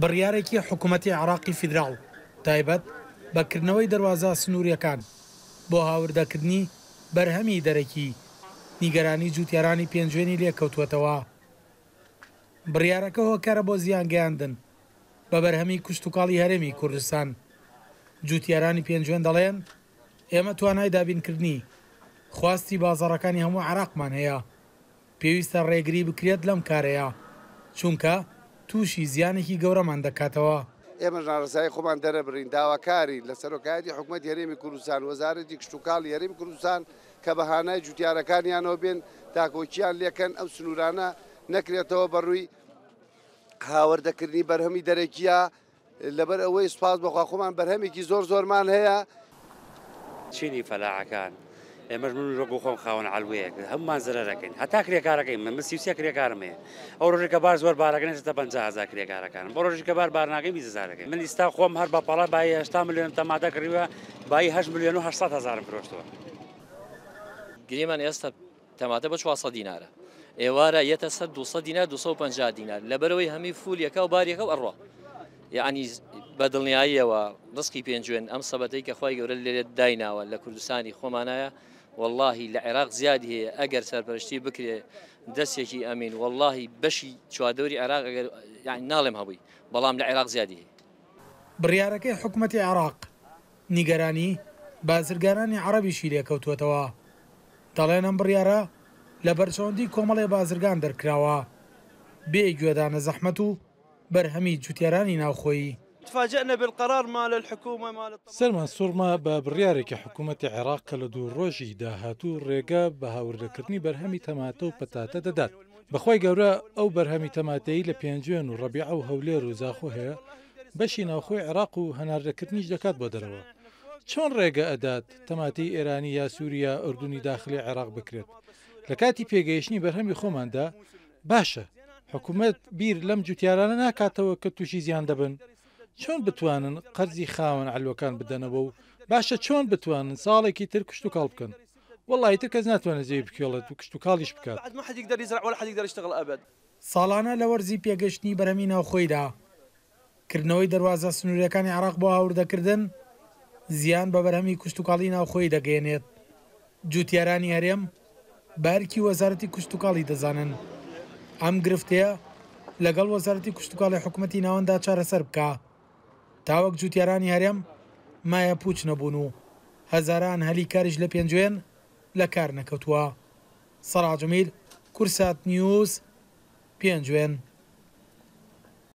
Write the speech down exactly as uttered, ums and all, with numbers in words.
بڕیارێکی حکوومەتی عێراقی فیدراڵ تایبەت بە کردنەوەی دەروازە سنووریەکان بۆ هاوردەکردنی بەرهەمی دەرەکی نیگەرانی جوتیارانی پێنجوێنی لێکەوتووەتەوە. بڕیارەکە هۆکارە بۆ زیانگەیاندن بە بەرهەمی کشتوکاڵی هەرێمی کوردستان. جوتیارانی پێنجوێن دەڵێن ئێمە توانای دابینکردنی خواستی بازاڕەکانی هەموو عێراقمان هەیە، پێویستە ڕێگری بکرێت لەم کارەیە چونکە تووشی زیانێکی گەورەمان دەکاتەوە. ئێمە ناڕەزایی خۆمان دەرەبڕین، داواکاری لە سەرۆکایەتی حکوومەتی هەرێمی کوردستان، وەزارەتی کشتوکاڵی هەرێمی کوردستان کە بە هانای جوتیارەکانیانەوە بێن تاکۆکیان لێکەن ئەو سنوورانە نەکرێتەوە بەڕووی هاوردەکردنی بەرهەمی دەرەکیە. لەبەر ئەوەی سوپاس بەخوا خۆمان بەرهەمێکی زۆر زۆرمان هەیە. چینی فەلاحەکان ئێمەش من وەکو خۆم خاوەن عەلوەیەک هەمومان زەرەرەکەین، هەتا کرێکارەکەین. من سی و سێ کرێکارم هەیە، ئەو ڕۆژێک کە بار زۆر بارەکەن ئێستا پەنجا هەزار کرێکارەکانم، بۆ ڕۆژێک کە بار بار ناکەین بیست هەزارەکەین. من ئێستا خۆم هەر بە پەڵە بایی هەشتا ملیۆن تەماتە کڕیوە، بایی هەشت ملیۆن و هەشت سەد هەزارم فرۆشتووە. گریمان ئێستا تەماتە بە چوار سەد دینارە، ئێوارە یەتە سەد دوو سەد دینار دوو سەد و پەنجا دینار، لەبەرەوەی هەمی فولیەکە و باریەکە و ئەڕوا. یعنی بە دڵنیاییەوە ڕزقی پێنجوێن ئەم سەبەتەی کە خوای گەورە لێرە دایناوە لە کوردستانی خۆمانایە، واللهی لە عێراق زیادی هەیە ئەگەر سەرپەرشتی بکرێ دەستێکی ئەمین، واللهی بەشی چواردەوری عێراق ئەگەر یعنی ناڵێم هەبووی، بەڵام لە عێراق زیادی هەیە. بڕیارەکەی حکوومەتی عێراق نیگەرانی بازرگانانی عەرەبیشی لێکەوتووەتەوە. دەڵێن ئەم بڕیارە لە بەرژەوەندی کۆمەڵێ بازرگان دەرکراوە بێ گوێدانە زەحمەت و بەرهەمی جوتیارانی ناوخۆیی. تفاجئنا بالقرار مال الحكومة مال سەرمان سوڕما بە بڕیارێکی حکوومەتی عێراق کە لە دوو ڕۆژی داهاتوو ڕێگە بە هاوردەکردنی بەرهەمی تەماتە و پەتاتە دەدات. بەخوای گەورە ئەو بەرهەمی تەماتەیی لە پێنجوێن و ڕەبیعە و هەولێر و زاخۆ هەیە بەشی ناوخۆی عێراق و هەناردەکردنیش دەکات بۆ دەرەوە. چۆن ڕێگە ئەدات تەماتەی ئێرانی یا سووریا ئوردونی داخلی عێراق بکرێت لە کاتی پێگەیشتنی بەرهەمی خۆماندا؟ باشە حکوومەت بیر لەم جوتیارانە ناکاتەوە کە تووشی زیان دەبن؟ چۆن بتوانن قەرزی خاوەن عەلوەکان بدەنەوە و باشە چۆن بتوانن ساڵێکی تر کشتوکاڵ بکەن؟ وەڵڵاهی تر کەس ناتوانێت زەوی بکێڵێت و کشتوکاڵیش بکات. ساڵانە لە وەرزی پێگەشتنی بەرهەمی ناوخۆیدا کردنەوەی دەروازە سنووریەکانی عێراق بۆ هاوردەکردن زیان بە بەرهەمی کشتوکاڵی ناوخۆی دەگەیەنێت. جوتیارانی هەرێم بارکی وەزارەتی کشتوکاڵی دەزانن ئەم گرفتەیە لەگەڵ وەزارەتی کشتوکاڵی حکوومەتی ناوەندا چارەسەر بکە تاوەک جوتیارانی هەرێم مایە پوچ نەبوون و هەزاران هەلی کاریش لە پێنجوێن لە کار نەکەوتووە. سەڵاح جەمیل، کورسات نیوز، پێنجوێن.